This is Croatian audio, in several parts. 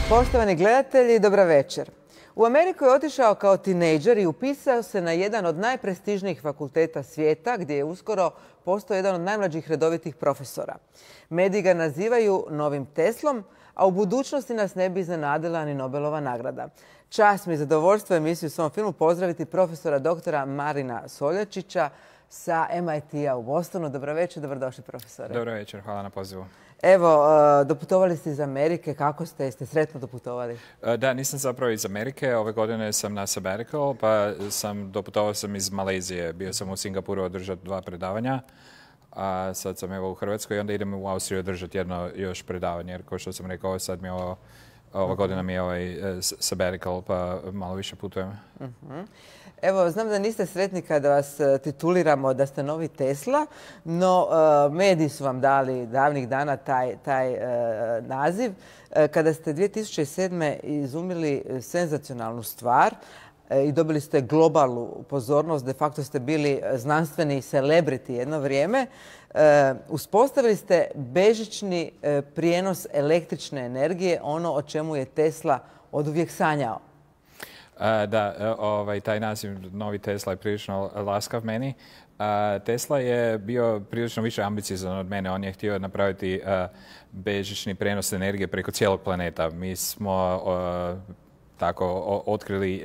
Poštovani gledatelji, dobra večer. U Ameriku je otišao kao tinejdžer i upisao se na jedan od najprestižnijih fakulteta svijeta, gdje je uskoro postao jedan od najmlađih redovitih profesora. Mediji ga nazivaju novim Teslom, a u budućnosti nas ne bi iznenadila ni Nobelova nagrada. Čast mi i zadovoljstvo emisiju u svom filmu pozdraviti profesora doktora Marina Soljačića sa MIT-a u Bostonu. Dobro večer, dobrodošli profesore. Dobro večer, hvala na pozivu. Evo, doputovali ste iz Amerike. Kako ste? Jeste sretno doputovali? Da, nisam zapravo iz Amerike. Ove godine sam na sabbatical, pa doputovao sam iz Malezije. Bio sam u Singapuru održati 2 predavanja, a sad sam evo u Hrvatskoj i onda idem u Austriju održati jedno još predavanje. Jer kao što sam rekao, sad mi je ova godina mi je ovaj sabbatical, pa malo više putujem. Evo, znam da niste sretni kada vas tituliramo da ste novi Tesla, no mediji su vam dali davnih dana taj naziv. Kada ste 2007. izumili senzacionalnu stvar i dobili ste globalnu pozornost, de facto ste bili znanstveni celebrity jedno vrijeme, uspostavili ste bežični prijenos električne energije, ono o čemu je Tesla oduvijek sanjao. Da, taj naziv novi Tesla je prilično laskav meni. Tesla je bio prilično više ambiciozan od mene. On je htio napraviti bežični prenos energije preko cijelog planeta. Mi smo otkrili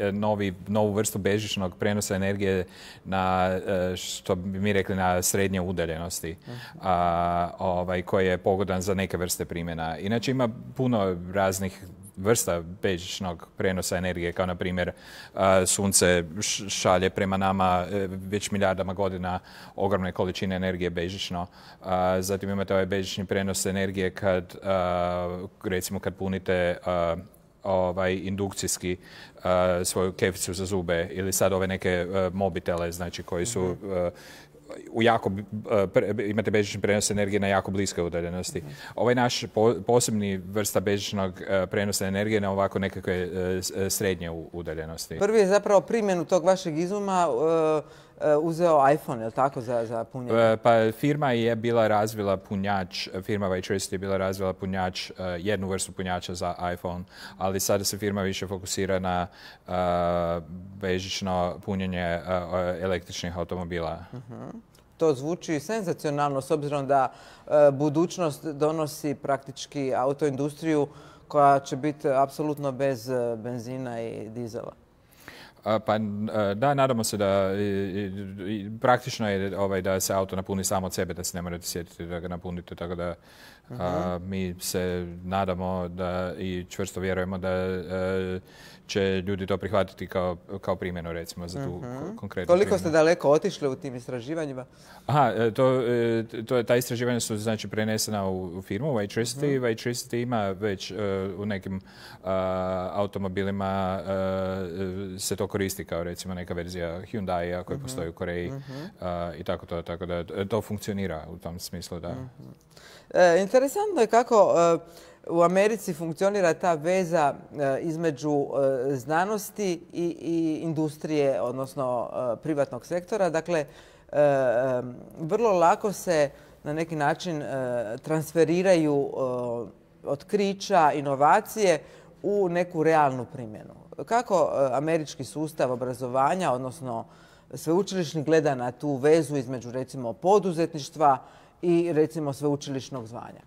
novu vrstu bežičnog prenosa energije na, što bi mi rekli, na srednje udaljenosti, koji je pogodan za neke vrste primjena. Inače ima puno raznih vrsta bežičnog prenosa energije, kao na primjer sunce šalje prema nama već milijardama godina ogromne količine energije bežično. Zatim imate ovaj bežični prenos energije kad, recimo, kad punite indukcijski svoju keficu za zube ili sad ove neke mobitele, znači koji su imate bežični prenos energije na jako bliske udaljenosti. Ovaj naš posebni vrsta bežičnog prenosa energije na ovako nekakve srednje udaljenosti. Prvi je zapravo primjenu tog vašeg izuma uzeo iPhone, je li tako, za punjenje? Pa firma je bila razvila punjač, firma Vitricity je bila razvila punjač, jednu vrstu punjača za iPhone, ali sada se firma više fokusira na bežično punjenje električnih automobila. To zvuči senzacionalno s obzirom da budućnost donosi praktički autoindustriju koja će biti apsolutno bez benzina i dizela. Pa da, nadamo se da praktično je da se auto napuni samo od sebe, da se ne morate sjetiti da ga napunite, tako da mi se nadamo da i čvrsto vjerujemo da će ljudi to prihvatiti kao primjenu, recimo, za tu konkretnu primjenu. Koliko ste daleko otišli u tim istraživanjima? Ta istraživanja su, znači, prenesena u firmu Vitricity. Vitricity ima već u nekim automobilima se to koristi kao, recimo, neka verzija Hyundai koja postoji u Koreji i tako da to funkcionira u tom smislu, da. Interesantno je kako u Americi funkcionira ta veza između znanosti i industrije, odnosno privatnog sektora. Dakle, vrlo lako se na neki način transferiraju otkrića, inovacije u neku realnu primjenu. Kako američki sustav obrazovanja, odnosno sveučilišni, gleda na tu vezu između, recimo, poduzetništva i, recimo, sveučilišnog zvanja?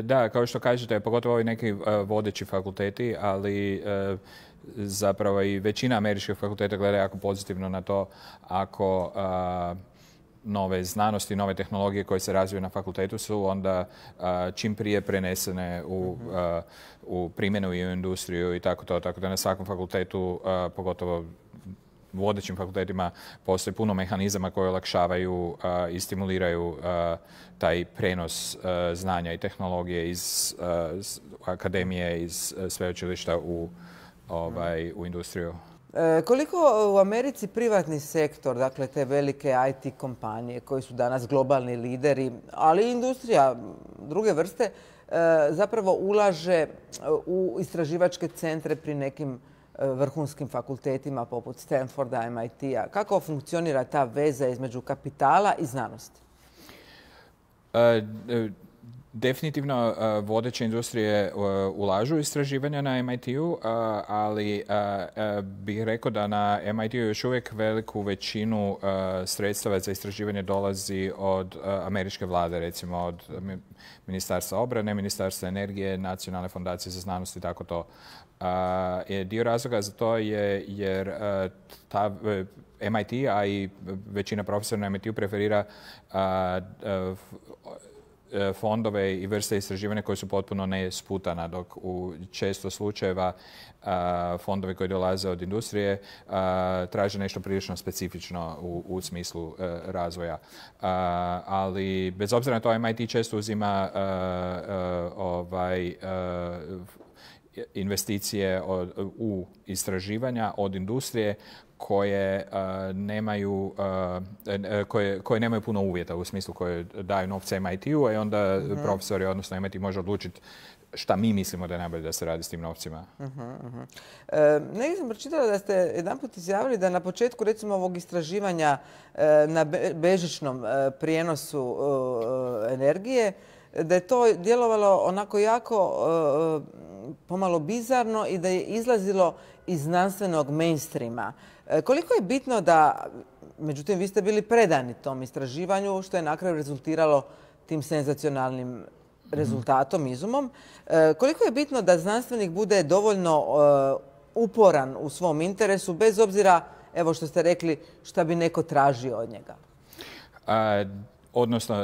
Da, kao što kažete, pogotovo ovi neki vodeći fakulteti, ali zapravo i većina američkih fakulteta gleda jako pozitivno na to ako nove znanosti, nove tehnologije koje se razviju na fakultetu su onda čim prije prenesene u primjenu i u industriju i tako da na svakom fakultetu, pogotovo vodećim fakultetima, postoji puno mehanizama koje olakšavaju i stimuliraju taj prenos znanja i tehnologije iz akademije, iz sveučilišta u industriju. Koliko u Americi privatni sektor, dakle te velike IT kompanije koji su danas globalni lideri, ali i industrija druge vrste, zapravo ulaže u istraživačke centre pri nekim vrhunskim fakultetima poput Stanforda, MIT-a? Kako funkcionira ta veza između kapitala i znanosti? Definitivno vodeće industrije ulažu istraživanja na MIT-u, ali bih rekao da na MIT-u još uvijek veliku većinu sredstava za istraživanje dolazi od američke vlade, recimo od Ministarstva obrane, Ministarstva energije, Nacionalne fondacije za znanost i tako to. Dio razloga za to je jer MIT, a i većina profesora na MIT-u preferira fondove i vrste istraživanja koje su potpuno nesputana, dok u često slučajeva fondovi koji dolaze od industrije traže nešto prilično specifično u smislu razvoja. Ali bez obzira na to MIT često uzima investicije u istraživanja od industrije koje nemaju puno uvjeta, u smislu koje daju novce MIT-u, i onda profesori, odnosno MIT, može odlučiti šta mi mislimo da je najbolje da se radi s tim novcima. Negdje sam pročitala da ste jedanput izjavili da na početku, recimo, ovog istraživanja na bežičnom prijenosu energije, da je to djelovalo onako jako pomalo bizarno i da je izlazilo iz znanstvenog mainstreama. Koliko je bitno da, međutim, vi ste bili predani tom istraživanju, što je na kraju rezultiralo tim senzacionalnim rezultatom, izumom. Koliko je bitno da znanstvenik bude dovoljno uporan u svom interesu, bez obzira, evo što ste rekli, šta bi neko tražio od njega? Odnosno,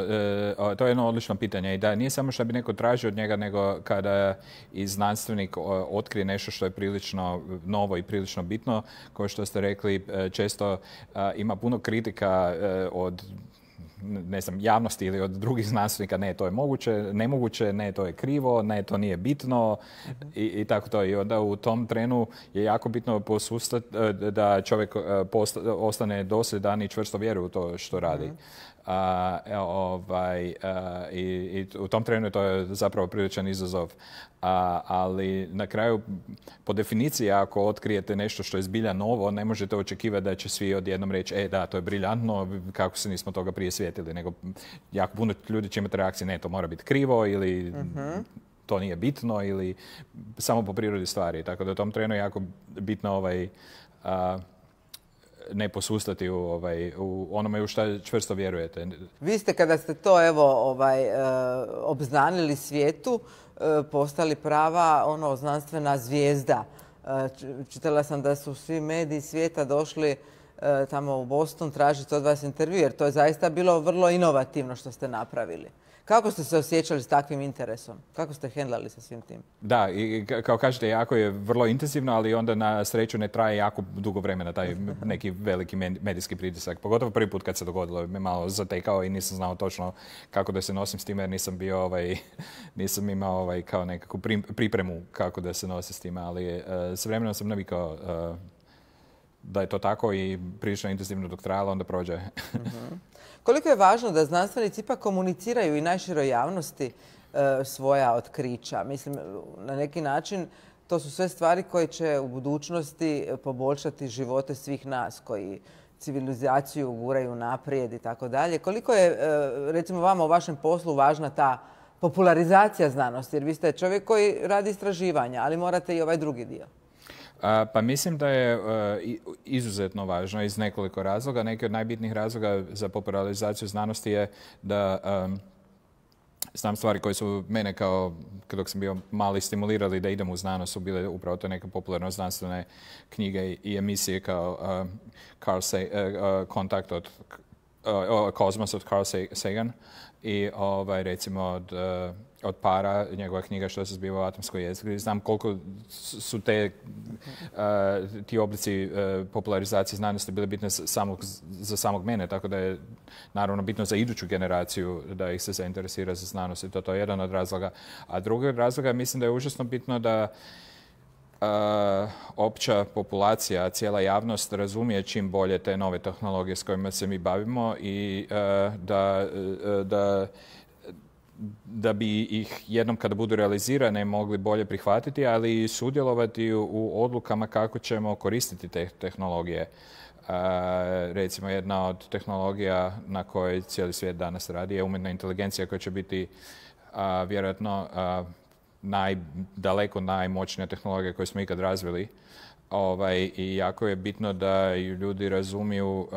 to je jedno odlično pitanje. I da nije samo što bi neko tražio od njega, nego kada i znanstvenik otkrije nešto što je prilično novo i prilično bitno, kao što ste rekli, često ima puno kritika od javnosti ili od drugih znanstvenika, ne, to je nemoguće, ne, to je krivo, ne, to nije bitno i tako to. I onda u tom trenu je jako bitno posustati da čovjek ostane dosljedan i čvrsto vjeruje u to što radi. I u tom trenu to je zapravo priličan izazov. Ali na kraju, po definiciji, ako otkrijete nešto što je zbilja novo, ne možete očekivati da će svi odjednom reći da, to je briljantno, kako se nismo toga prije sjetili. Nego jako puno ljudi će imati reakcije, ne, to mora biti krivo ili to nije bitno ili samo po prirodi stvari. Tako da u tom trenu je jako bitno ne posustati u onome u što čvrsto vjerujete. Vi ste, kada ste to obznanili svijetu, postali prava znanstvena zvijezda. Čitala sam da su svi mediji svijeta došli tamo u Boston tražiti od vas intervju, jer to je zaista bilo vrlo inovativno što ste napravili. Kako ste se osjećali s takvim interesom? Kako ste hendlali sa svim tim? Da, i kao kažete, jako je vrlo intenzivno, ali onda na sreću ne traje jako dugo vremena taj neki veliki medijski pritisak. Pogotovo prvi put kad se dogodilo, me malo zatekao i nisam znao točno kako da se nosim s time, jer nisam bio nisam imao kao nekakvu pripremu kako da se nosim s time, ali s vremenom sam navikao da je to tako i prilično intenzivno dok trajalo, onda prođe. Koliko je važno da znanstvenici ipak komuniciraju i najširoj javnosti svoja otkrića? Mislim, na neki način to su sve stvari koje će u budućnosti poboljšati živote svih nas koji civilizaciju guraju naprijed i tako dalje. Koliko je, recimo, vama u vašem poslu važna ta popularizacija znanosti? Jer vi ste čovjek koji radi istraživanja, ali morate i ovaj drugi dio. Pa mislim da je izuzetno važno iz nekoliko razloga. Neki od najbitnijih razloga za popularizaciju znanosti je da znam stvari koje su mene dok sam bio mali stimulirali da idem u znanost, su bile upravo to neke popularno znanstvene knjige i emisije kao Kontakt od Kozmos od Carl Sagan i recimo od Para, njegova knjiga Što se zbiva u atomskoj jezgri. Znam koliko su ti oblici popularizacije znanosti bile bitne za samog mene, tako da je naravno bitno za iduću generaciju da ih se zainteresira za znanost i to je jedan od razloga. A drugi od razloga mislim da je užasno bitno da opća populacija, cijela javnost razumije čim bolje te nove tehnologije s kojima se mi bavimo i da bi ih jednom kada budu realizirane mogli bolje prihvatiti, ali i sudjelovati u odlukama kako ćemo koristiti te tehnologije. Recimo, jedna od tehnologija na kojoj cijeli svijet danas radi je umjetna inteligencija koja će biti vjerojatno daleko najmoćnija tehnologija koju smo ikad razvili. I jako je bitno da ju ljudi razumiju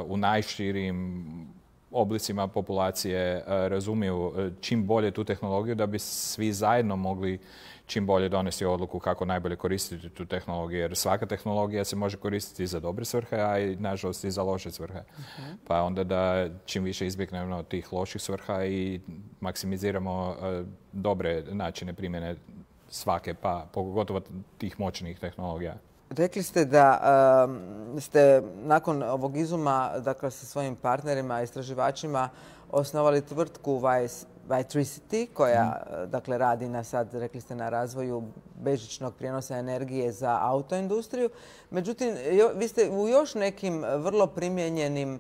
u najširim oblicima populacije, razumiju čim bolje tu tehnologiju da bi svi zajedno mogli čim bolje donesti odluku kako najbolje koristiti tu tehnologiju. Jer svaka tehnologija se može koristiti i za dobre svrhe, a i nažalost i za loše svrhe. Pa onda da čim više izbjegnemo tih loših svrha i maksimiziramo dobre načine primjene svake, pa pogotovo tih moćnih tehnologija. Rekli ste da ste nakon ovog izuma, dakle sa svojim partnerima, istraživačima, osnovali tvrtku Vitricity koja dakle radi rekli ste, na razvoju bežičnog prijenosa energije za autoindustriju. Međutim, vi ste u još nekim vrlo primijenjenim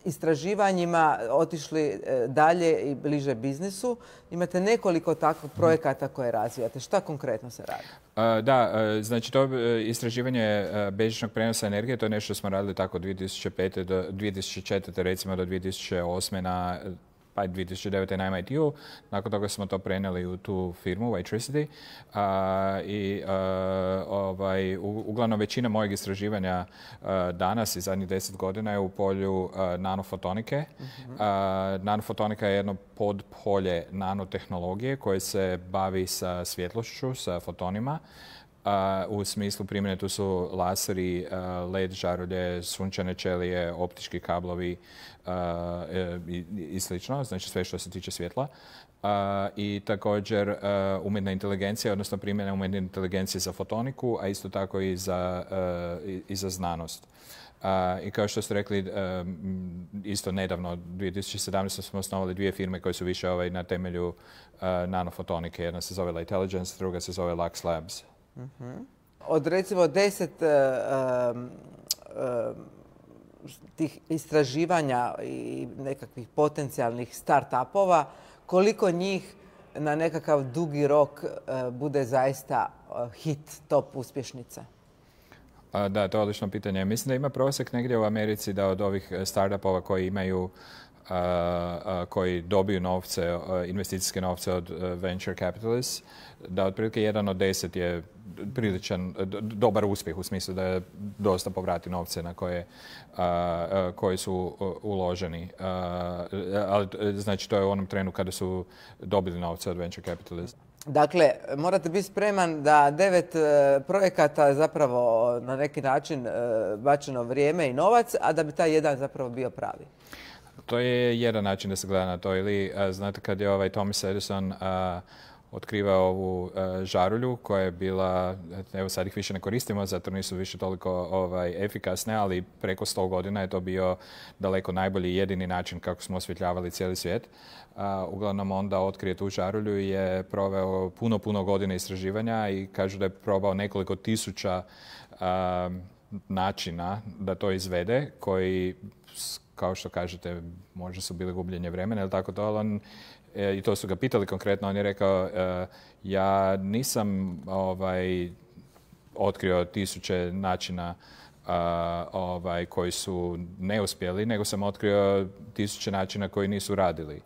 istraživanjima otišli dalje i bliže biznisu. Imate nekoliko takvih projekata koje razvijate. Šta konkretno se radi? Znači to istraživanje bežičnog prijenosa energije, to je nešto što smo radili tako 2005. do 2004. recimo do 2008. pa 2009. na MIT-u. Nakon toga smo to prenijeli u tu firmu, Vitricity. Uglavnom većina mojeg istraživanja danas i zadnjih 10 godina je u polju nanofotonike. Nanofotonika je jedno podpolje nanotehnologije koje se bavi sa svjetlošću, sa fotonima. U smislu primjene tu su laseri, LED žarulje, sunčane ćelije, optički kablovi i slično, znači sve što se tiče svjetla. I također umjetna inteligencija, odnosno primjena umjetne inteligencije za fotoniku, a isto tako i za znanost. I kao što ste rekli, isto nedavno, 2017. smo osnovali dvije firme koje su više na temelju nanofotonike. Jedna se zove Lightelligence, druga se zove Lux Labs. Od recimo 10 tih istraživanja i nekakvih potencijalnih start-upova, koliko njih na nekakav dugi rok bude zaista hit, top uspješnica? Da, to je odlično pitanje. Mislim da ima prosjek negdje u Americi da od ovih startupova koji dobiju novce, investicijske novce od venture capitalists, da otprilike 1 od 10 je priličan, dobar uspjeh u smislu da je dosta povrati novce na koji su uloženi. Ali znači to je u onom trenu kada su dobili novce od venture capitalista. Dakle, morate biti spreman da 9 projekata zapravo na neki način bačeno vrijeme i novac, a da bi taj jedan zapravo bio pravi. To je jedan način da se gleda na to. Ili, znate, kad je Thomas Edison otkrivao ovu žarulju koja je bila, evo sad ih više ne koristimo zato nisu više toliko efikasne, ali preko 100 godina je to bio daleko najbolji i jedini način kako smo osvjetljavali cijeli svijet. Uglavnom onda otkrije tu žarulju i je proveo puno godina istraživanja i kažu da je probao nekoliko tisuća načina da to izvede koji, kao što kažete, možda su bili gubljenje vremena ili tako to, ali i to su ga pitali konkretno, on je rekao ja nisam otkrio tisuće načina koji su neuspjeli, nego sam otkrio tisuće načina koji nisu radili.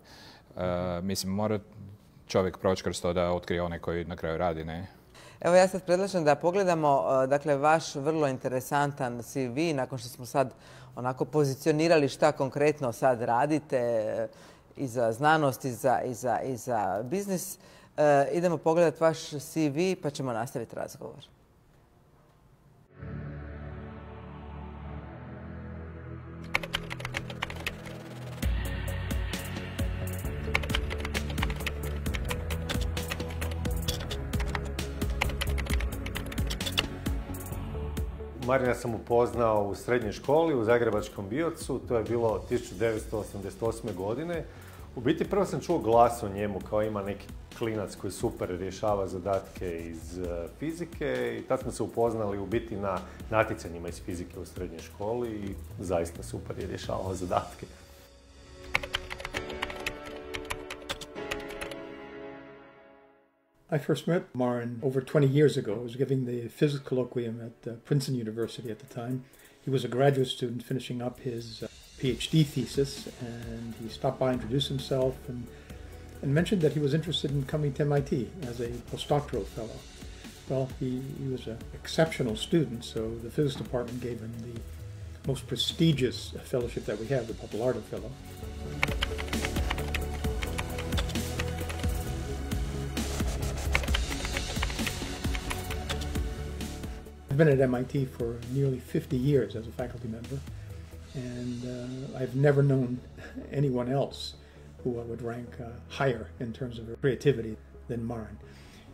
Mislim, mora čovjek proći kroz to da otkrije onaj koji na kraju radi, ne? Evo ja sad predlažem da pogledamo dakle, vaš vrlo interesantan CV nakon što smo sad onako pozicionirali šta konkretno sad radite i za znanost i za biznis. Idemo pogledati vaš CV pa ćemo nastaviti razgovor. Marina sam upoznao u srednjoj školi u Zagrebačkom Biocu, to je bilo 1988. godine. U biti prvo sam čuo glas o njemu kao ima neki klinac koji super rješava zadatke iz fizike i tad smo se upoznali u biti na natjecanjima iz fizike u srednjoj školi i zaista super je rješavao zadatke. I first met Marin over 20 years ago. I was giving the physics colloquium at Princeton University at the time. He was a graduate student finishing up his PhD thesis, and he stopped by, introduced himself, and mentioned that he was interested in coming to MIT as a postdoctoral fellow. Well, he was an exceptional student, so the physics department gave him the most prestigious fellowship that we have, the Pappalardo Fellow. I've been at MIT for nearly 50 years as a faculty member, and I've never known anyone else who I would rank higher in terms of creativity than Marin.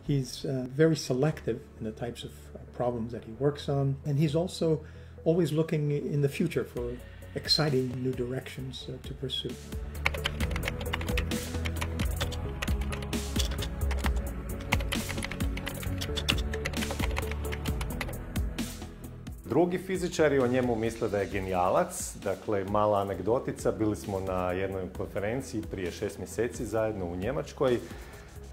He's very selective in the types of problems that he works on, and he's also always looking in the future for exciting new directions to pursue. Drugi fizičari o njemu misle da je genijalac, dakle mala anegdotica, bili smo na jednoj konferenciji prije 6 mjeseci zajedno u Njemačkoj.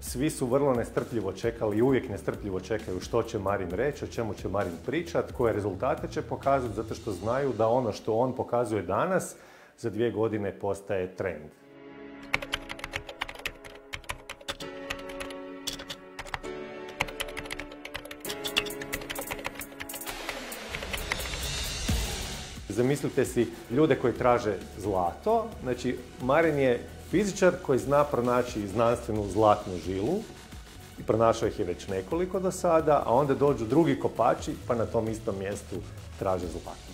Svi su vrlo nestrpljivo čekali i uvijek nestrpljivo čekaju što će Marin reći, o čemu će Marin pričati, koje rezultate će pokazati, zato što znaju da ono što on pokazuje danas za 2 godine postaje trend. Zamislite si ljude koji traže zlato, znači Marin je fizičar koji zna pronaći znanstvenu zlatnu žilu i pronašao ih je već nekoliko do sada, a onda dođu drugi kopači pa na tom istom mjestu traže zlato.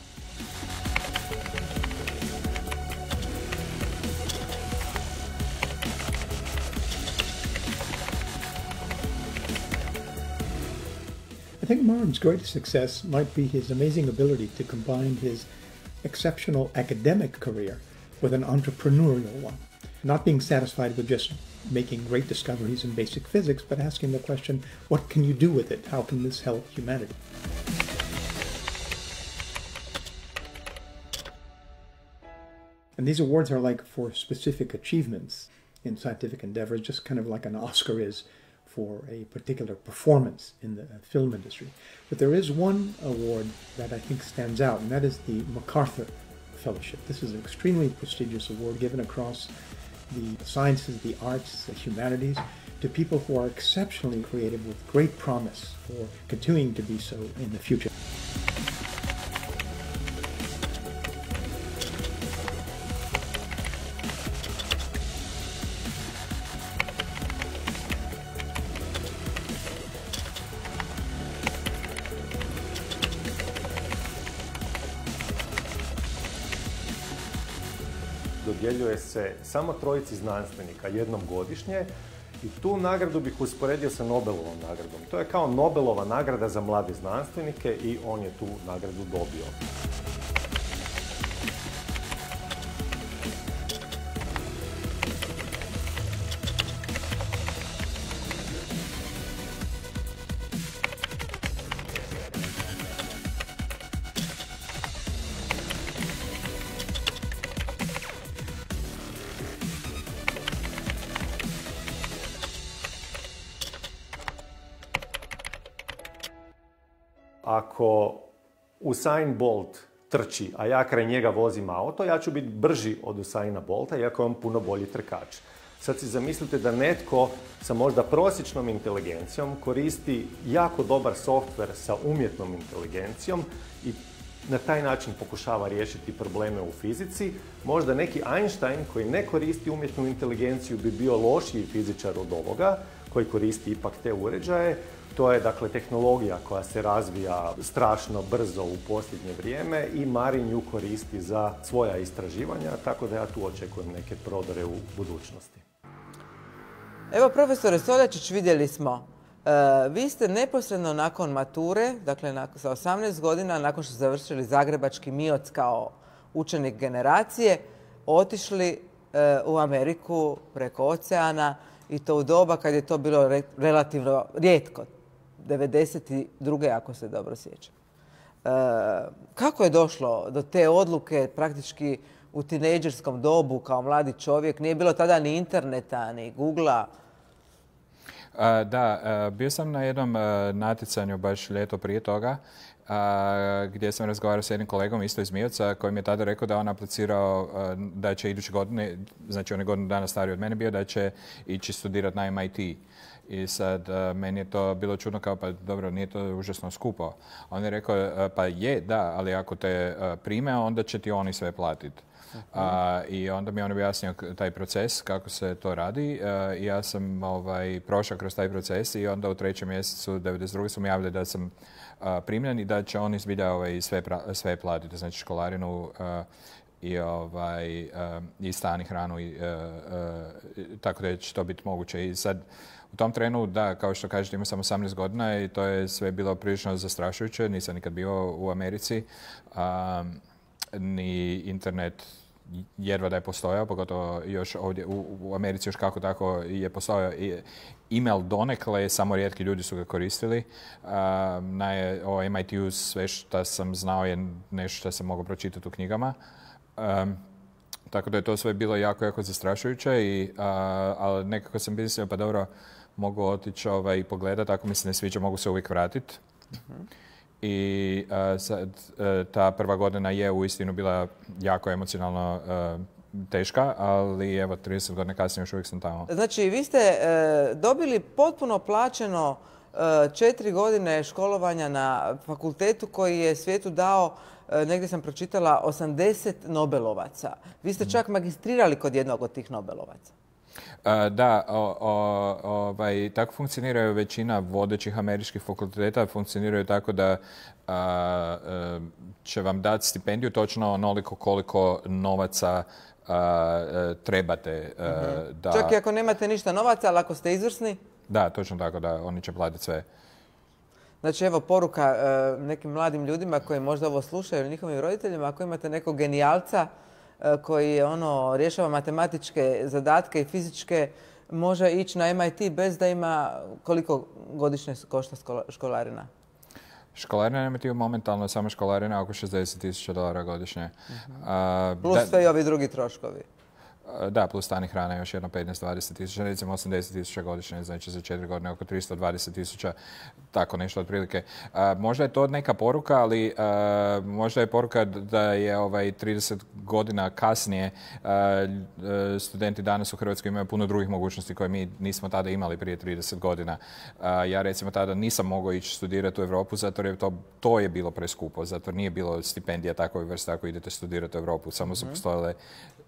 I think Marin's greatest success might be his amazing ability to combine his exceptional academic career with an entrepreneurial one. Not being satisfied with just making great discoveries in basic physics, but asking the question, what can you do with it? How can this help humanity? And these awards are like for specific achievements in scientific endeavors, just kind of like an Oscar is for a particular performance in the film industry. But there is one award that I think stands out, and that is the MacArthur Fellowship. This is an extremely prestigious award given across the sciences, the arts, the humanities, to people who are exceptionally creative with great promise for continuing to be so in the future. Dodjeljuje se samo 3 znanstvenika jednom godišnje i tu nagradu bih usporedio sa Nobelovom nagradom. To je kao Nobelova nagrada za mlade znanstvenike i on je tu nagradu dobio. Ako Usain Bolt trči, a ja kraj njega vozim auto, ja ću biti brži od Usaina Bolta, iako je on puno bolji trkač. Sad si zamislite da netko sa možda prosječnom inteligencijom koristi jako dobar softver sa umjetnom inteligencijom i na taj način pokušava riješiti probleme u fizici. Možda neki Einstein koji ne koristi umjetnu inteligenciju bi bio lošiji fizičar od ovoga, koji koristi ipak te uređaje. To je dakle tehnologija koja se razvija strašno brzo u posljednje vrijeme i Marin ju koristi za svoja istraživanja, tako da ja tu očekujem neke prodore u budućnosti. Evo, profesore Soljačić, vidjeli smo. Vi ste neposredno nakon mature, dakle sa 18 godina, nakon što ste završili Zagrebački MIOC kao učenik generacije, otišli u Ameriku preko oceana i to u doba kad je to bilo relativno rijetko. 92. ako se dobro sjećam. Kako je došlo do te odluke praktički u tinejdžerskom dobu kao mladi čovjek? Nije bilo tada ni interneta, ni Googlea. Da, bio sam na jednom natjecanju baš ljeto prije toga gdje sam razgovarao s jednim kolegom isto iz Mijevca koji mi je tada rekao da on aplicirao da će iduće godine, znači on je godinu dana stariji od mene bio, da će ići studirati na MIT. I sad meni je to bilo čudno kao pa dobro, nije to užasno skupo. On je rekao pa je, da, ali ako te prime onda će ti oni sve platiti. I onda mi je on objasnio taj proces, kako se to radi. I ja sam prošao kroz taj proces i onda u 3. mjesecu 92. su mi javili da sam primljen i da će oni zbilja sve platiti, znači školarinu i stan i hranu, tako da će to biti moguće. I sad u tom trenu, da, kao što kažete, imao sam 18 godina i to je sve bilo prilično zastrašujuće. Nisam nikad bio u Americi, ni internet jedva da je postojao, pogotovo još ovdje u Americi još kako tako je postojao. E-mail donekle, samo rijetki ljudi su ga koristili. O MIT-u sve što sam znao je nešto što sam mogao pročitati u knjigama. Tako da je to sve bilo jako, jako zastrašujuće, ali nekako sam mislio pa dobro, mogu otići i pogledati, ako mi se ne sviđa mogu se uvijek vratiti. I sad, ta prva godina je uistinu bila jako emocionalno teška, ali evo 30 godina kasnije još uvijek sam tamo. Znači, vi ste dobili potpuno plaćeno 4 godine školovanja na fakultetu koji je svijetu dao, negdje sam pročitala, 80 Nobelovaca. Vi ste čak magistrirali kod jednog od tih Nobelovaca. Da, tako funkcioniraju većina vodećih američkih fakulteta. Funkcioniraju tako da će vam dati stipendiju točno onoliko koliko novaca trebate. Čak i ako nemate ništa novaca, ali ako ste izvrsni? Da, točno tako, da, oni će platiti sve. Znači, evo poruka nekim mladim ljudima koji možda ovo slušaju ili njihovim roditeljima, ako imate nekog genijalca koji rješava matematičke zadatke i fizičke, može ići na MIT bez da ima koliko godišnje košta školarina? Školarina na MIT-u momentalno samo školarina oko $60,000 godišnje. Plus sve i ovi drugi troškovi. Da, plus stan i hrana još jedno 15-20 tisuća, recimo 80 tisuća godišnje, znači za 4 godine oko 320 tisuća, tako nešto otprilike. Možda je to neka poruka, ali možda je poruka da je 30 godina kasnije studenti danas u Hrvatskoj imaju puno drugih mogućnosti koje mi nismo tada imali prije 30 godina. Ja recimo tada nisam mogao ići studirati u Europu zato jer to je bilo preskupo, zato nije bilo stipendija takve vrste ako idete studirati u Europu, samo su postojale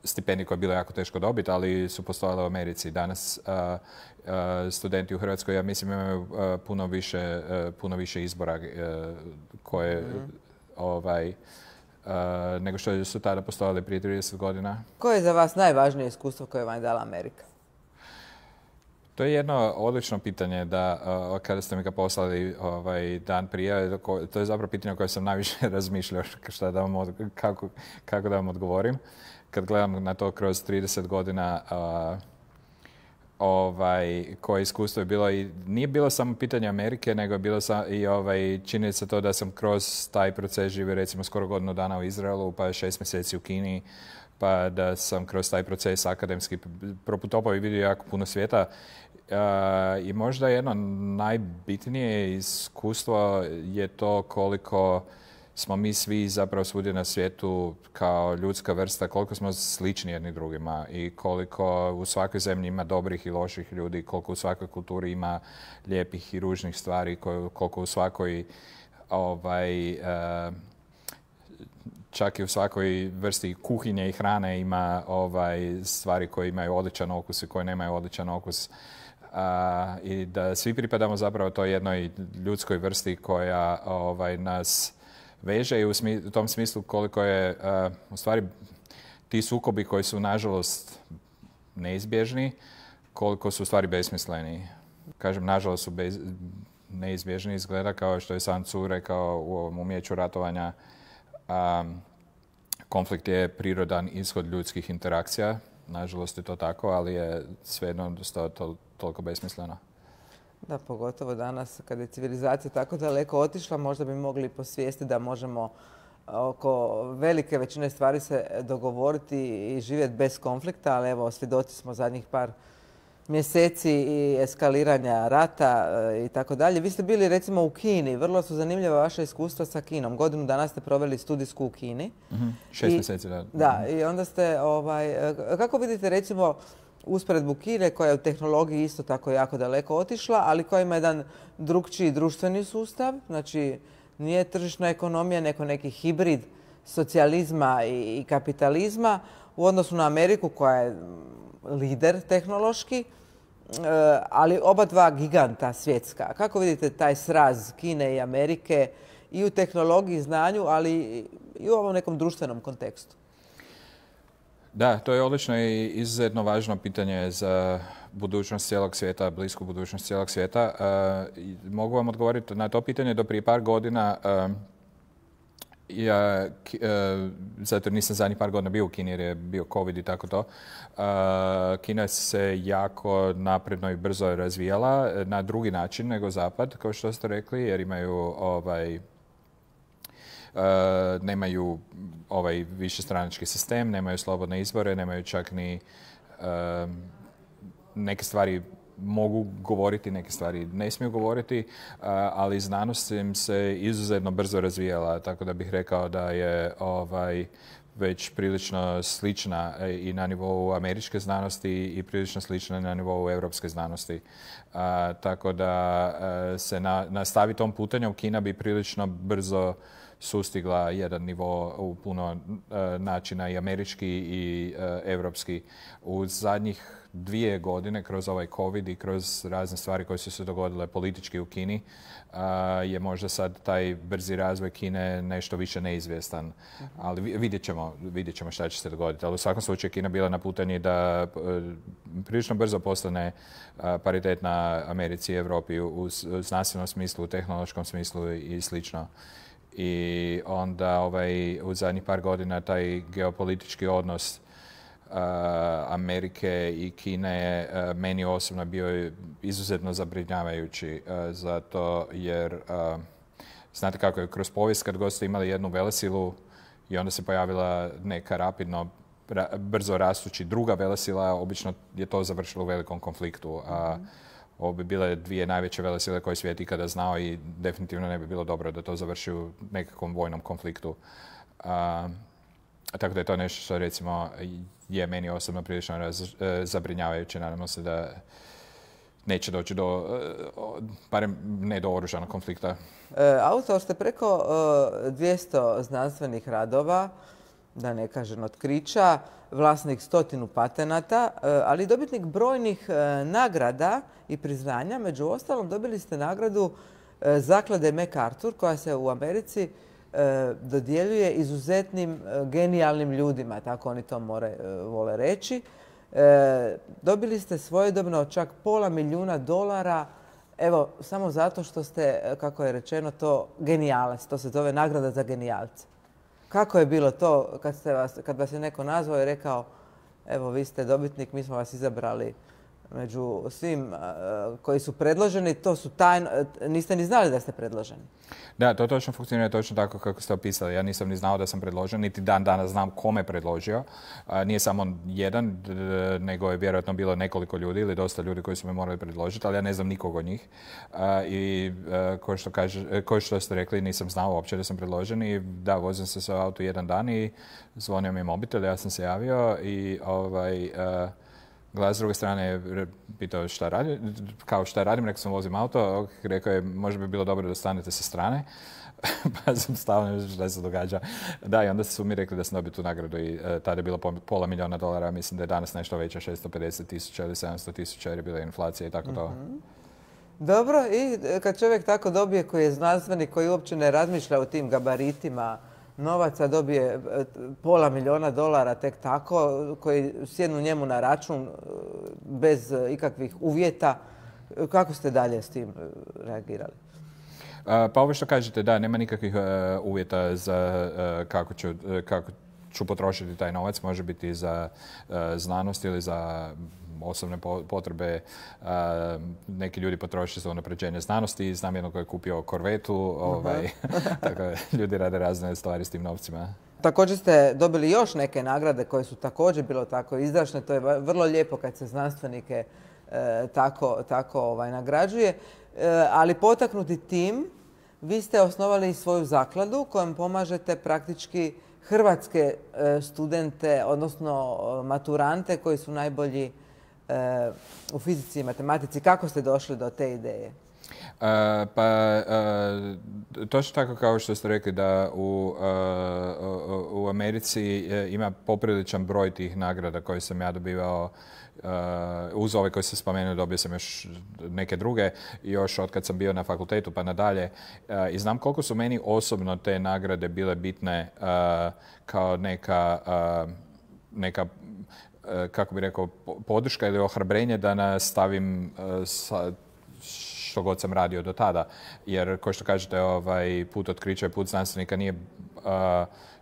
stipendije koje je bilo jako teško dobiti, ali su postojale u Americi. Danas studenti u Hrvatskoj, ja mislim, imaju puno više izbora koje nego što su tada postojali prije 30 godina. Koje je za vas najvažnije iskustvo koje vam je dala Amerika? To je jedno odlično pitanje da kada ste mi ga poslali dan prije, to je zapravo pitanje o kojem sam najviše razmišljao kako da vam odgovorim. Kad gledam na to kroz 30 godina koje iskustvo je bilo i nije bilo samo pitanje Amerike, nego je bilo i činjenica to da sam kroz taj proces živio recimo skoro godinu dana u Izraelu, pa 6 mjeseci u Kini, pa da sam kroz taj proces akademski proputovao i vidio jako puno svijeta. I možda jedno najbitnije iskustvo je to koliko smo mi svi zapravo svugdje na svijetu kao ljudska vrsta, koliko smo slični jedni drugima i koliko u svakoj zemlji ima dobrih i loših ljudi, koliko u svakoj kulturi ima lijepih i ružnih stvari, koliko u svakoj čak i u svakoj vrsti kuhinje i hrane ima stvari koje imaju odličan okus i koje nemaju odličan okus. I da svi pripadamo zapravo toj jednoj ljudskoj vrsti koja nas veže i u tom smislu koliko je u stvari ti sukobi koji su nažalost neizbježni, koliko su u stvari besmisleni. Kažem, nažalost su neizbježni, izgleda kao što je Sun Tzu rekao u ovom Umijeću ratovanja. Konflikt je prirodan ishod ljudskih interakcija. Nažalost je to tako, ali je svejedno toliko besmisleno. Da, pogotovo danas kad je civilizacija tako daleko otišla, možda bi mogli posvijestiti da možemo oko velike većine stvari se dogovoriti i živjeti bez konflikta, ali evo, svjedoci smo zadnjih par mjeseci i eskaliranja rata i tako dalje. Vi ste bili recimo u Kini, vrlo su zanimljiva vaša iskustva sa Kinom. Godinu dana ste proveli studijsku u Kini. 6 mjeseci, da. Da, i onda ste, kako vidite recimo usporedbu Kine koja je u tehnologiji isto tako jako daleko otišla, ali koja ima jedan drukčiji društveni sustav, znači nije tržišna ekonomija, nego neki hibrid socijalizma i kapitalizma u odnosu na Ameriku koja je lider tehnološki, ali oba dva giganta svjetska. Kako vidite taj sraz Kine i Amerike i u tehnologiji, znanju, ali i u ovom nekom društvenom kontekstu? Da, to je odlično i izuzetno važno pitanje za budućnost cijelog svijeta, blisku budućnost cijelog svijeta. Mogu vam odgovoriti na to pitanje do prije par godina. Ja, zato jer nisam zadnjih par godina bio u Kini jer je bio COVID i tako to. Kina se jako napredno i brzo razvijala na drugi način nego Zapad, kao što ste rekli, jer imaju nemaju višestranački sistem, nemaju slobodne izbore, nemaju čak ni neke stvari mogu govoriti, neke stvari ne smiju govoriti, ali znanost im se izuzetno brzo razvijala, tako da bih rekao da je već prilično slična i na nivou američke znanosti i prilično slična na nivou europske znanosti. Tako da se nastavi tom putanjem, Kina bi prilično brzo sustigla jedan nivo u puno načina i američki i europski. U zadnjih 2 godine kroz ovaj COVID i kroz razne stvari koje su se dogodile politički u Kini je možda sad taj brzi razvoj Kine nešto više neizvjestan. Ali vidjet ćemo šta će se dogoditi. Ali u svakom slučaju Kina bila na putanji da prilično brzo postane paritetna Americi i Europi u znanstvenom smislu, u tehnološkom smislu i slično. I onda u zadnjih par godina taj geopolitički odnos Amerike i Kine meni osobno bio izuzetno zabrinjavajući, zato jer znate kako je kroz povijest kad god ste imali jednu velesilu i onda se pojavila neka rapidno brzo rastući druga velesila, obično je to završilo u velikom konfliktu. Ovo bi bile 2 najveće velesile koje je svijet ikada znao i definitivno ne bi bilo dobro da to završi u nekakvom vojnom konfliktu. Tako da je to nešto što recimo je meni osobno prilično zabrinjavajuće. Nadamo se da neće doći do, barem ne do oružanog konflikta. Autor ste preko 200 znanstvenih radova, da ne kažem otkrića, vlasnik 100 patenata, ali dobitnik brojnih nagrada i priznanja. Među ostalom dobili ste nagradu zaklade MacArthur koja se u Americi dodjeljuje izuzetnim genijalnim ljudima, tako oni to vole reći. Dobili ste svojedobno čak $500 000, evo, samo zato što ste, kako je rečeno, to genijalac. To se zove nagrada za genijalce. Kako je bilo to kad vas je neko nazvao i rekao evo, vi ste dobitnik, mi smo vas izabrali među svim koji su predloženi, to su tajno, niste ni znali da ste predloženi. Da, to točno funkcionira točno tako kako ste opisali. Ja nisam ni znao da sam predložen, niti dan danas znam kome predložio. Nije samo jedan, nego je vjerojatno bilo nekoliko ljudi ili dosta ljudi koji su me morali predložiti, ali ja ne znam nikog od njih. I ko što ste rekli, nisam znao uopće da sam predložen i da, vozim se sa auto jedan dan i zvonio mi je mobitel, ja sam se javio i glas s druge strane je pitao šta radim, kao šta radim, rekao sam vozim auto, rekao je možda bi bilo dobro da stanete sa strane, pa sam stao, šta se događa. Da, i onda su mi rekli da sam dobio tu nagradu i tada je bilo $500 000, mislim da je danas nešto veća, 650 000 ili 700 000 jer je bila inflacija i tako to. Dobro, i kad čovjek tako dobije, koji je znanstvenik, koji uopće ne razmišlja o tim gabaritima novaca, dobije $500 000 tek tako, koji sjednu njemu na račun bez ikakvih uvjeta. Kako ste dalje s tim reagirali? Pa ovo što kažete, da, nema nikakvih uvjeta za kako ću potrošiti taj novac. Može biti za znanost ili za osobne potrebe. Neki ljudi potroše za unapređenje znanosti. Znam jednog koji je kupio korvetu. Tako ljudi rade razne stvari s tim novcima. Također ste dobili još neke nagrade koje su također bilo tako izdašne. To je vrlo lijepo kad se znanstvenike tako nagrađuje. Ali potaknuti tim, vi ste osnovali svoju zakladu kojom pomažete praktički hrvatske studente, odnosno maturante koji su najbolji u fizici i matematici. Kako ste došli do te ideje? Točno tako kao što ste rekli da u Americi ima popriličan broj tih nagrada koje sam ja dobivao. Uz ove koje sam spomenuo dobio sam još neke druge, još od kad sam bio na fakultetu pa nadalje. I znam koliko su meni osobno te nagrade bile bitne kao neka kako bi rekao, podrška ili ohrabrenje da nastavim sa što god sam radio do tada. Jer, kao što kažete, put otkrića i put znanstvenika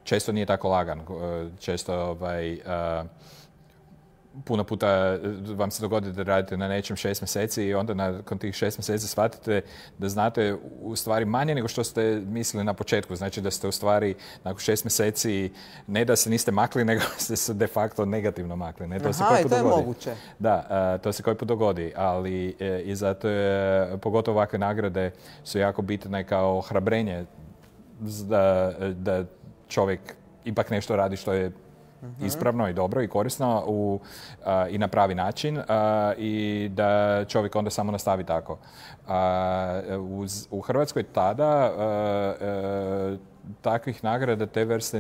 često nije tako lagan. Često puno puta vam se dogodi da radite na nečem 6 mjeseci i onda nakon tih 6 mjeseci shvatite da znate u stvari manje nego što ste mislili na početku. Znači da ste u stvari nakon 6 mjeseci ne da se niste makli, nego ste se de facto negativno makli. Ne? To se koji put to je dogodi. Moguće. Da, to se koji put dogodi, ali i zato je, pogotovo ovakve nagrade su jako bitne kao ohrabrenje da čovjek ipak nešto radi što je ispravno i dobro i korisno i na pravi način i da čovjek onda samo nastavi tako. U Hrvatskoj tada takvih nagrada te vrste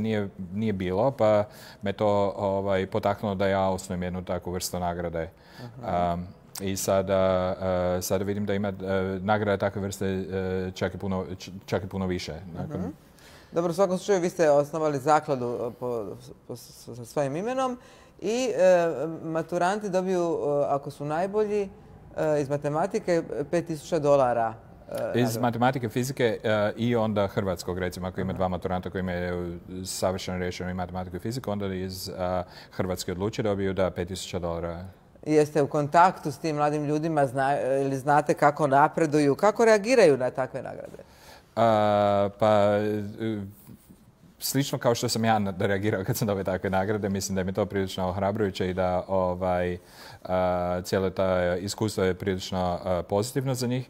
nije bilo, pa me to potaknulo da ja osnujem jednu takvu vrstu nagrade. I sada vidim da ima nagrada takve vrste čak i puno više. Dobro, u svakom slučaju vi ste osnovali zakladu sa svojim imenom i maturanti dobiju, ako su najbolji, iz matematike $5.000. Iz matematike, fizike i onda hrvatskog, recimo, ako ima dva maturanta koji imaju savršeno riješeno i matematiku i fiziku, onda iz Hrvatske odluče dobiju $5.000. Jeste u kontaktu s tim mladim ljudima ili znate kako napreduju, kako reagiraju na takve nagrade? Slično kao što sam ja reagirao kad sam dobio takve nagrade, mislim da je mi to prilično ohrabrujuće i da cijelo to iskustvo je prilično pozitivno za njih.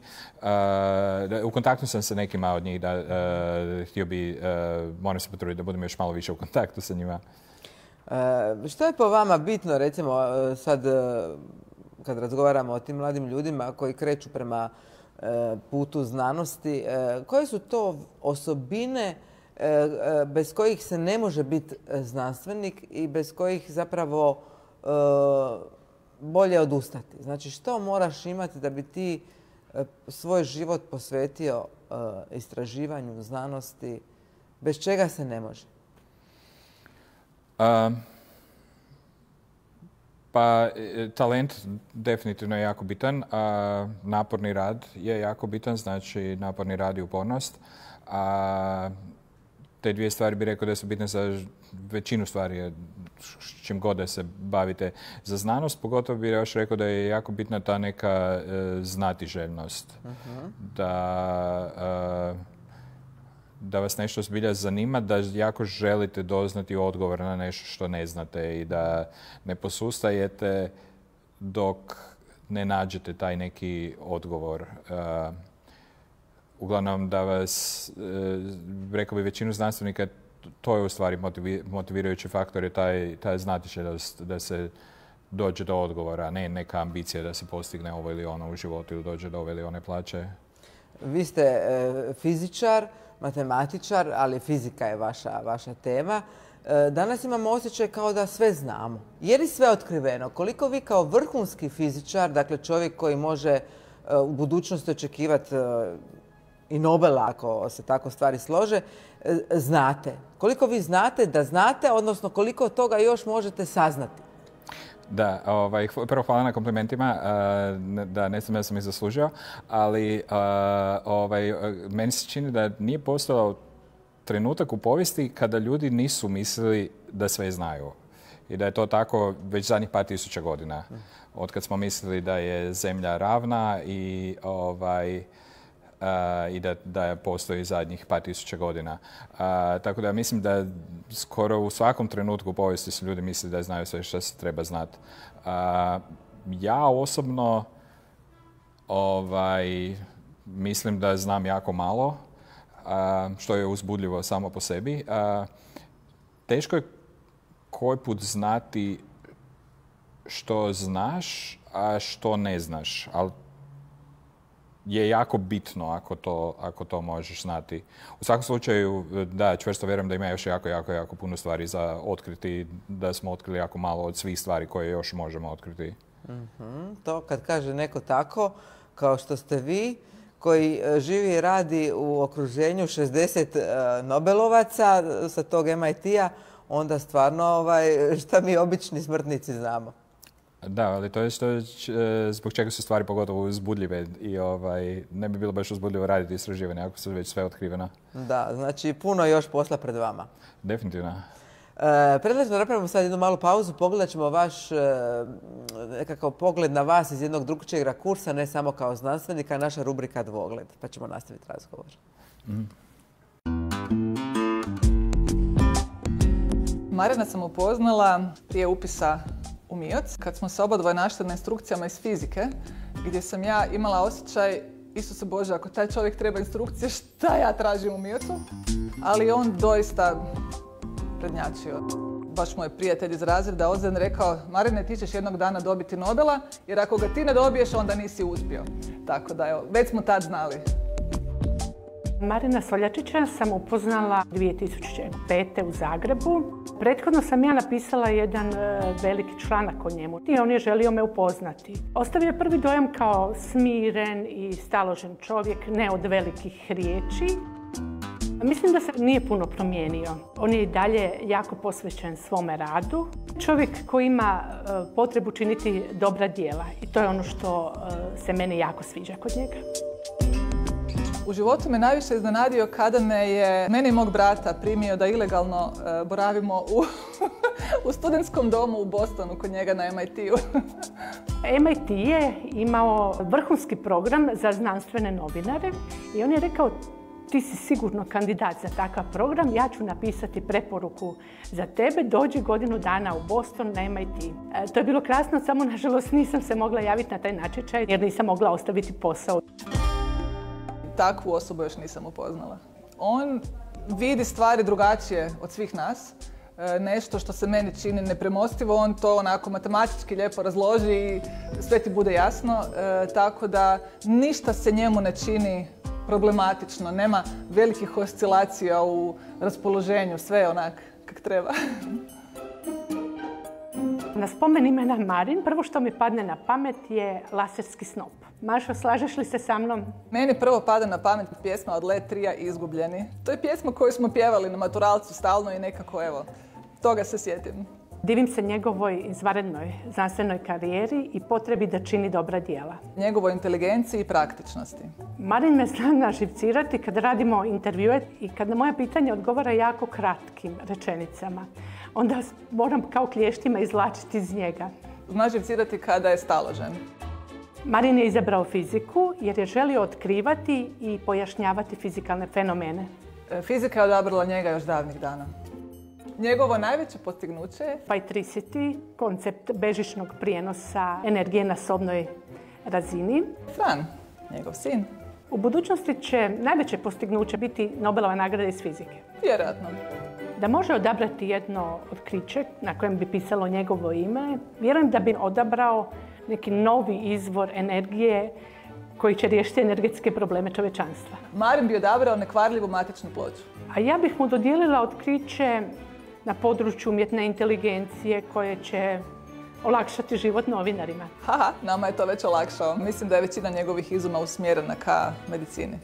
U kontaktu sam sa nekima od njih, htio bi, moram se potruditi da budem još malo više u kontaktu sa njima. Što je po vama bitno, recimo, sad kad razgovaramo o tim mladim ljudima koji kreću prema putu znanosti, koje su to osobine bez kojih se ne može biti znanstvenik i bez kojih zapravo bolje odustati? Znači, što moraš imati da bi ti svoj život posvetio istraživanju znanosti, bez čega se ne može? Talent definitivno je jako bitan. Naporni rad je jako bitan, znači naporni rad i upornost. Te dvije stvari bih rekao da su bitne za većinu stvari, čim god da se bavite za znanost. Pogotovo bih još rekao da je jako bitna ta neka znatiželjnost. Da vas nešto zbilja zanima, da jako želite doznati odgovor na nešto što ne znate i da ne posustajete dok ne nađete taj neki odgovor. Uglavnom da vas, rekao bi većinu znanstvenika, to je u stvari motivirajući faktor, je taj znatiželjost da se dođe do odgovora, ne neka ambicija da se postigne ovo ili ono u životu ili dođe do ove ili one plaće. Vi ste fizičar, matematičar, ali fizika je vaša tema. Danas imamo osjećaj kao da sve znamo. Je li sve otkriveno? Koliko vi kao vrhunski fizičar, dakle čovjek koji može u budućnosti očekivati i Nobela, ako se tako stvari slože, znate? Koliko vi znate da znate, odnosno koliko toga još možete saznati? Da, prvo hvala na komplimentima, da ne znam da sam ih zaslužio, ali meni se čini da nije postojao trenutak u povijesti kada ljudi nisu mislili da sve znaju. I da je to tako već zadnjih par tisuća godina. Od kad smo mislili da je zemlja ravna i da postoji zadnjih par tisuća godina. Tako da mislim da skoro u svakom trenutku u povijesti su ljudi mislili da znaju sve što se treba znati. Ja osobno mislim da znam jako malo, što je uzbudljivo samo po sebi. Teško je koji put znati što znaš, a što ne znaš, ali je jako bitno ako to možeš znati. U svakom slučaju, da, čvrsto vjerujem da ima još jako puno stvari za otkriti, da smo otkrili jako malo od svih stvari koje još možemo otkriti. To kad kaže neko tako, kao što ste vi, koji živi i radi u okruženju 60 Nobelovaca sa tog MIT-a, onda stvarno šta mi obični smrtnici znamo. Da, ali to je zbog čega su stvari pogotovo uzbudljive i ne bi bilo baš uzbudljivo raditi istraživanje ako su već sve otkriveno. Da, znači puno još posla pred vama. Definitivno. Predlažem da napravimo sad jednu malu pauzu, pogledat ćemo vaš nekakav pogled na vas iz jednog drugčijeg rakursa, ne samo kao znanstvenika, naša rubrika Dvogled, pa ćemo nastaviti razgovor. Marina sam upoznala prije upisa u MIOC, kad smo se obadvoje našli na instrukcijama iz fizike, gdje sam ja imala osjećaj, Isuse Bože, ako taj čovjek treba instrukcije, šta ja tražim u MIOC-u? Ali on doista prednjačio. Baš moj prijatelj iz razreda Ozren rekao, Marine, ti ćeš jednog dana dobiti Nobela, jer ako ga ti ne dobiješ, onda nisi uspio. Tako da, evo, već smo tad znali. Marina Soljačića sam upoznala 2005. u Zagrebu. Prethodno sam ja napisala jedan veliki članak o njemu i on je želio me upoznati. Ostavio je prvi dojam kao smiren i staložen čovjek, ne od velikih riječi. Mislim da se nije puno promijenio. On je i dalje jako posvećen svome radu. Čovjek koji ima potrebu činiti dobra djela i to je ono što se meni jako sviđa kod njega. U životu me najviše iznenadio kada mene i mog brata primio da ilegalno boravimo u studentskom domu u Bostonu kod njega na MIT-u. MIT je imao vrhunski program za znanstvene novinare i on je rekao, ti si sigurno kandidat za takav program, ja ću napisati preporuku za tebe, dođi godinu dana u Boston na MIT. To je bilo krasno, samo nažalost nisam se mogla javiti na taj natječaj jer nisam mogla ostaviti posao. Takvu osobu još nisam upoznala. On vidi stvari drugačije od svih nas. Nešto što se meni čini nepremostivo, on to onako matematički lijepo razloži i sve ti bude jasno. Tako da ništa se njemu ne čini problematično. Nema velikih oscilacija u raspoloženju. Sve je onak kak treba. Na spomen imena Marin, prvo što mi padne na pamet je laserski snop. Mašo, slažeš li se sa mnom? Meni prvo pada na pamet pjesma od Led Tria Izgubljeni. To je pjesma koju smo pjevali na maturalcu stalno i nekako, evo, toga se sjetim. Divim se njegovoj izvanrednoj znanstvenoj karijeri i potrebi da čini dobra djela. Njegovoj inteligenciji i praktičnosti. Marin me zna naživcirati kad radimo intervjue i kad na moja pitanja odgovara jako kratkim rečenicama. Onda moram kao klještima izvlačiti iz njega. Zna živcirati kada je staložen. Marin je izabrao fiziku jer je želio otkrivati i pojašnjavati fizikalne fenomene. Fizika je odabrala njega još davnih dana. Njegovo najveće postignuće je Phytricity, koncept bežičnog prijenosa energije na sobnoj razini. Fran, njegov sin. U budućnosti će najveće postignuće biti Nobelova nagrada iz fizike. Vjerojatno. Da može odabrati jedno otkriće na kojem bi pisalo njegovo ime, vjerujem da bi odabrao neki novi izvor energije koji će riješiti energetske probleme čovječanstva. Marin bi odabrao nekvarljivu matičnu ploču. A ja bih mu dodijelila otkriće na području umjetne inteligencije koje će olakšati život novinarima. Haha, nama je to već olakšao. Mislim da je većina njegovih izuma usmjerena ka medicini.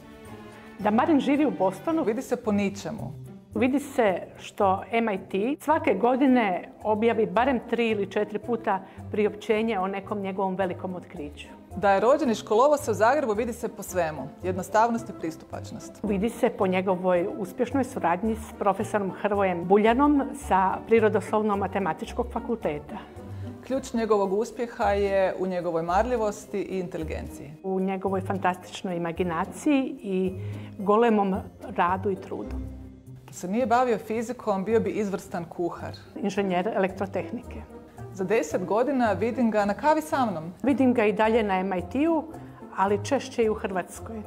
Da Marin živi u Bostonu Vidi se po ničemu. Vidi se što MIT svake godine objavi barem 3 ili 4 puta priopćenje o nekom njegovom velikom otkriću. Da je rođen i školovao se u Zagrebu vidi se po svemu. Jednostavnost i pristupačnost. Vidi se po njegovoj uspješnoj suradnji s profesorom Hrvojem Buljanom sa Prirodoslovno-matematičkog fakulteta. Ključ njegovog uspjeha je u njegovoj marljivosti i inteligenciji. U njegovoj fantastičnoj imaginaciji i golemom radu i trudu. Da se nije bavio fizikom, bio bi izvrstan kuhar. Inženjer elektrotehnike. Za 10 godina vidim ga na kavi sa mnom. Vidim ga i dalje na MIT-u, ali češće i u Hrvatskoj.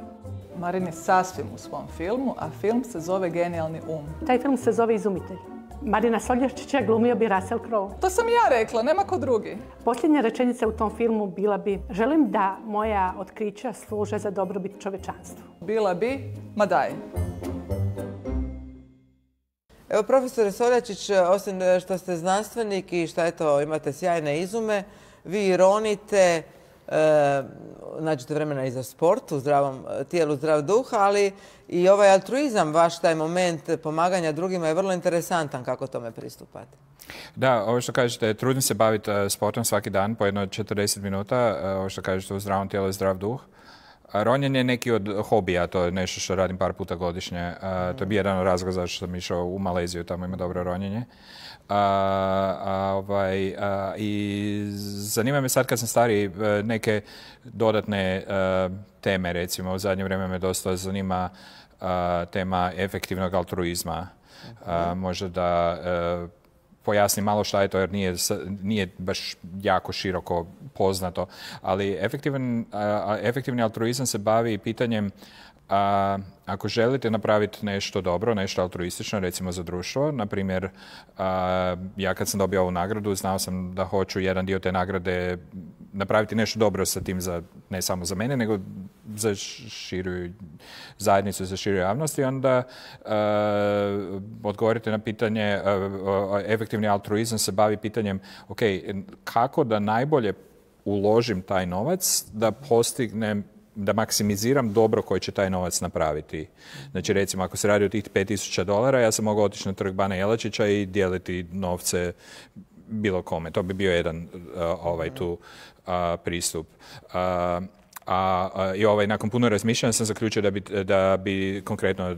Marin je sasvim u svom filmu, a film se zove Genijalni um. Taj film se zove Izumitelj. Marina Solješčića glumio bi Russell Crowe. To sam ja rekla, nema ko drugi. Posljednja rečenica u tom filmu bila bi: želim da moja otkrića služe za dobrobit čovečanstvu. Bila bi, ma daj. Evo, profesore Soljačić, osim što ste znanstvenik i što eto, imate sjajne izume, vi ronite, nađete vremena i za sport, u zdravom tijelu, zdrav duh, ali i ovaj altruizam, vaš taj moment pomaganja drugima je vrlo interesantan. Kako tome pristupate? Da, ovo što kažete, trudim se baviti sportom svaki dan po jedno 40 minuta, ovo što kažete, u zdravom tijelu i zdrav duh. Ronjenje je neki od hobija, to je nešto što radim par puta godišnje. To je bio jedan od razloga zašto sam išao u Maleziju, tamo ima dobro ronjenje. I zanima me sad kad sam stariji neke dodatne teme, recimo u zadnje vrijeme me dosta zanima tema efektivnog altruizma. Možda da pojasnim malo šta je to, jer nije baš jako široko poznato, ali efektivni altruizam se bavi pitanjem ako želite napraviti nešto dobro, nešto altruistično, recimo za društvo, na primjer, ja kad sam dobio ovu nagradu, znao sam da hoću jedan dio te nagrade napraviti nešto dobro sa tim, ne samo za mene, nego za širu zajednicu, za širu javnost, i onda odgovorite na pitanje, efektivni altruizam se bavi pitanjem, ok, kako da najbolje uložim taj novac, da postignem, da maksimiziram dobro koje će taj novac napraviti. Znači, recimo, ako se radi o tih $5,000, ja sam mogao otići na trg Bana Jelačića i dijeliti novce bilo kome. To bi bio jedan pristup. I nakon puno razmišljanja sam zaključio da bi konkretno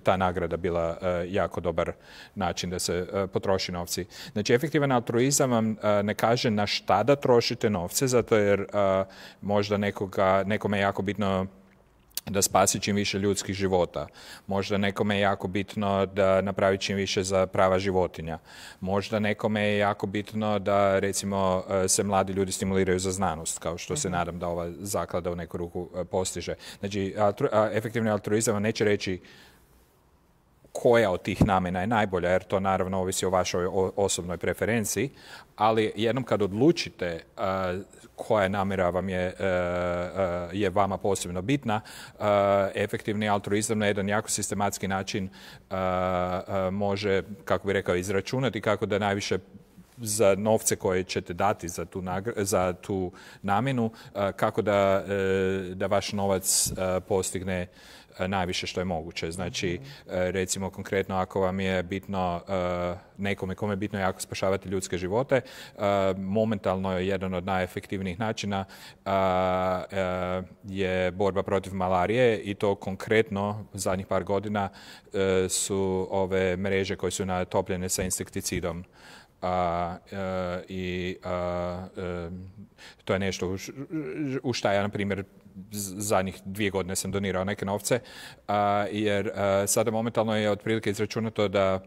ta nagrada bila jako dobar način da se potroši novci. Znači, efektivan altruizam vam ne kaže na šta da trošite novce, zato jer možda nekome je jako bitno da spasi čim više ljudskih života. Možda nekome je jako bitno da napravi čim više za prava životinja. Možda nekome je jako bitno da, recimo, se mladi ljudi stimuliraju za znanost, kao što se nadam da ova zaklada u neku ruku postiže. Znači, efektivni altruizam vam neće reći koja od tih namjena je najbolja, jer to naravno ovisi o vašoj osobnoj preferenciji, ali jednom kad odlučite koja namjera vam je vama posebno bitna, efektivni altruizam na jedan jako sistematski način može, kako bi rekao, izračunati kako da najviše za novce koje ćete dati za tu namjenu, kako da vaš novac postigne najviše što je moguće. Znači, recimo konkretno ako vam je bitno kome je bitno jako spašavati ljudske živote, momentalno je jedan od najefektivnijih načina je borba protiv malarije, i to konkretno zadnjih par godina su ove mreže koje su natopljene sa insekticidom. To je nešto u šta ja, na primjer, zadnjih 2 godine sam donirao neke novce, jer sada momentalno je otprilike izračunato da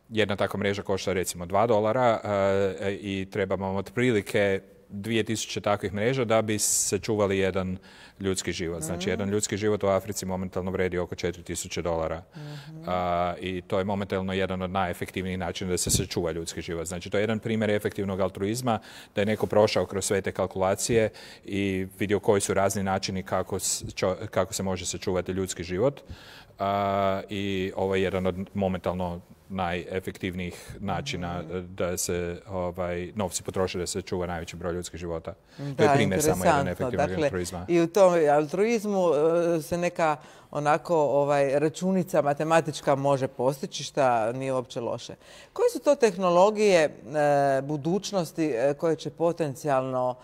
jedna takva mreža košta recimo $2 i trebamo otprilike 2000 takvih mreža da bi se čuvali jedan ljudski život. Znači, jedan ljudski život u Africi momentalno vredi oko $4,000. I to je momentalno jedan od najefektivnijih načina da se sačuva ljudski život. Znači, to je jedan primjer efektivnog altruizma, da je neko prošao kroz sve te kalkulacije i vidio koji su razni načini kako se može sačuvati ljudski život. I ovo je jedan od momentalno najefektivnijih načina da se novci potroše, da se čuva najveći broj ljudskih života. To je primjer samo jedan efektivnog altruizma. I u tom altruizmu se neka onako računica matematička može postići, šta nije uopće loše. Koje su to tehnologije budućnosti koje će potencijalno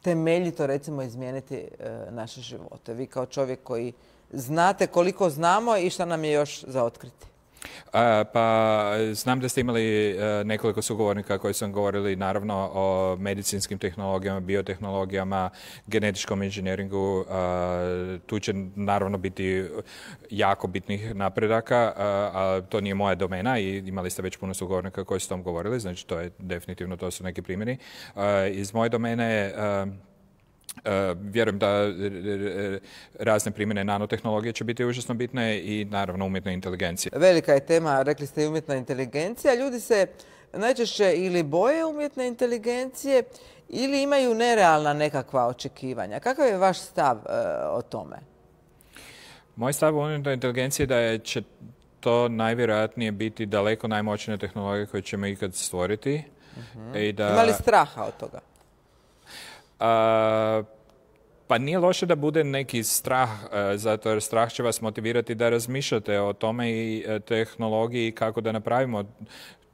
temeljito, recimo, izmijeniti naše živote? Vi kao čovjek koji znate koliko znamo i šta nam je još za otkriti. Pa znam da ste imali nekoliko sugovornika koji su govorili naravno o medicinskim tehnologijama, biotehnologijama, genetičkom inženjeringu. Tu će naravno biti jako bitnih napredaka, a to nije moja domena i imali ste već puno sugovornika koji su o tom govorili, znači to je definitivno, to su neki primjeri. Iz moje domene vjerujem da razne primjene nanotehnologije će biti užasno bitne i naravno umjetna inteligencija. Velika je tema, rekli ste i umjetna inteligencija. Ljudi se najčešće ili boje umjetne inteligencije ili imaju nerealna nekakva očekivanja. Kakav je vaš stav o tome? Moj stav o umjetnoj inteligenciji je da će to najvjerojatnije biti daleko najmoćnija tehnologija koju ćemo ikad stvoriti. Ima li straha od toga? Pa nije loše da bude neki strah, zato jer strah će vas motivirati da razmišljate o tome i tehnologiji, kako da napravimo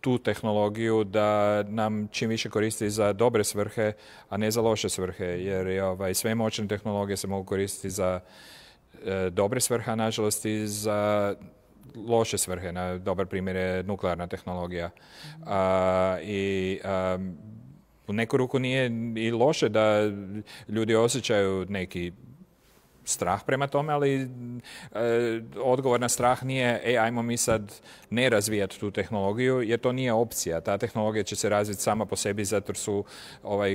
tu tehnologiju da nam čim više koristi za dobre svrhe, a ne za loše svrhe, jer sve moćne tehnologije se mogu koristiti za dobre svrhe, a nažalost i za loše svrhe. Dobar primjer je nuklearna tehnologija. U neku ruku nije i loše da ljudi osjećaju neki strah prema tome, ali odgovor na strah nije ajmo mi sad ne razvijati tu tehnologiju, jer to nije opcija. Ta tehnologija će se razviti sama po sebi zato jer su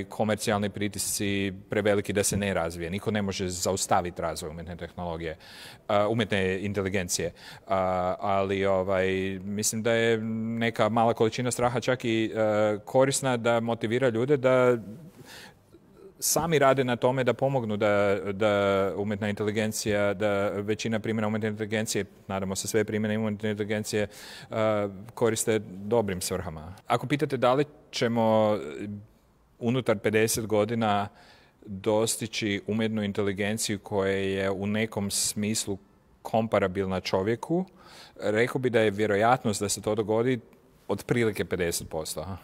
komercijalni pritisci preveliki da se ne razvije. Niko ne može zaustaviti razvoj umjetne tehnologije, umjetne inteligencije. Ali mislim da je neka mala količina straha čak i korisna da motivira ljude da sami rade na tome da pomognu da umjetna inteligencija, da većina primjena umjetne inteligencije, nadamo se sve primjene umjetne inteligencije, koriste dobrim svrhama. Ako pitate da li ćemo unutar 50 godina dostići umjetnu inteligenciju koja je u nekom smislu komparabilna čovjeku, rekao bi da je vjerojatnost da se to dogodi otprilike 50%.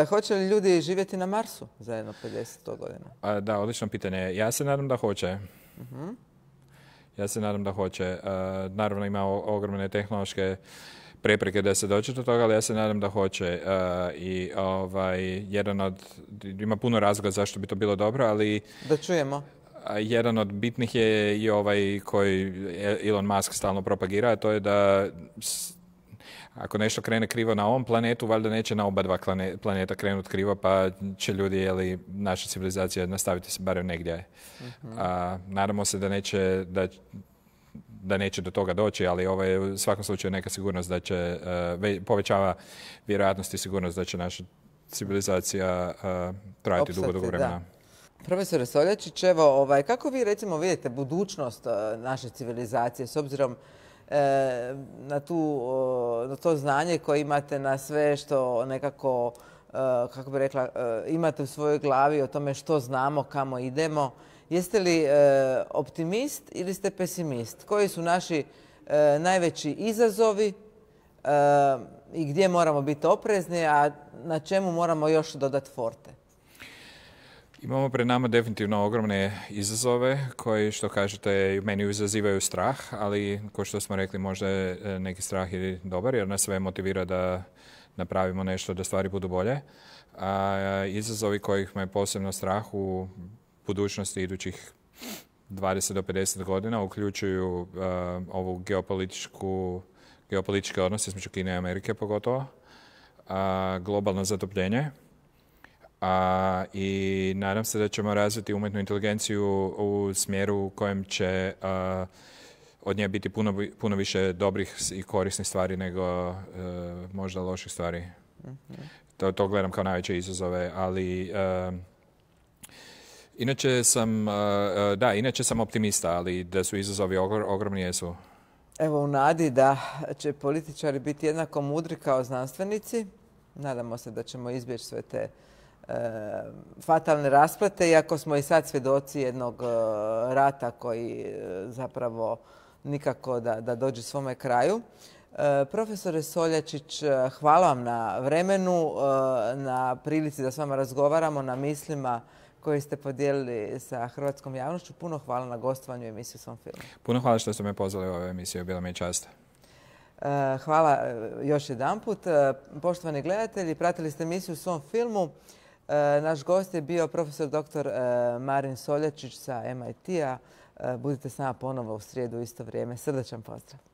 Hoće li ljudi živjeti na Marsu za jedno 50 godina? Da, odlično pitanje. Ja se nadam da hoće. Ja se nadam da hoće. Naravno ima ogromne tehnološke prepreke da se dođe do toga, ali ja se nadam da hoće. I ima puno razloga zašto bi to bilo dobro, ali da čujemo. Jedan od bitnih je i koji Elon Musk stalno propagira, a to je da ako nešto krene krivo na ovom planetu, valjda neće na oba dva planeta krenuti krivo, pa će ljudi, naša civilizacija nastaviti se barem negdje. Nadamo se da neće do toga doći, ali ovo je u svakom slučaju neka sigurnost da će, povećava vjerojatnost i sigurnost da će naša civilizacija trajati dugo vremena. Da. Profesore Soljačić, evo, kako vi recimo vidite budućnost naše civilizacije s obzirom na to znanje koje imate, na sve što nekako, kako bi rekla, imate u svojoj glavi o tome što znamo, kamo idemo. Jeste li optimist ili ste pesimist? Koji su naši najveći izazovi i gdje moramo biti oprezni, a na čemu moramo još dodati forte? Imamo pred nama definitivno ogromne izazove koji, što kažete, meni izazivaju strah, ali kao što smo rekli, možda je neki strah i dobar jer nas sve motivira da napravimo nešto da stvari budu bolje. Izazovi kojih me posebno strah u budućnosti idućih 20 do 50 godina uključuju ovu geopolitičke odnose između Kine i Amerike pogotovo, globalno zatopljenje. I nadam se da ćemo razviti umjetnu inteligenciju u smjeru u kojem će od nje biti puno više dobrih i korisnih stvari nego možda loših stvari. To gledam kao najveće izazove, ali inače sam optimista, ali da su izazovi ogromni jesu. Evo, u nadi da će političari biti jednako mudri kao znanstvenici, nadamo se da ćemo izbjeći sve te fatalne rasplete, iako smo i sad svjedoci jednog rata koji zapravo nikako da dođe svome kraju. Profesore Soljačić, hvala vam na vremenu, na prilici da s vama razgovaramo, na mislima koje ste podijelili sa hrvatskom javnošću. Puno hvala na gostovanju u emisiji Svom filmu. Puno hvala što ste me pozvali u ovu emisiju, bila mi je čast. Hvala još jedanput. Poštovani gledatelji, pratili ste emisiju u svom filmu. Naš gost je bio profesor dr. Marin Soljačić sa MIT-a. Budite s nama ponovo u srijedu u isto vrijeme. Srdačan pozdrav.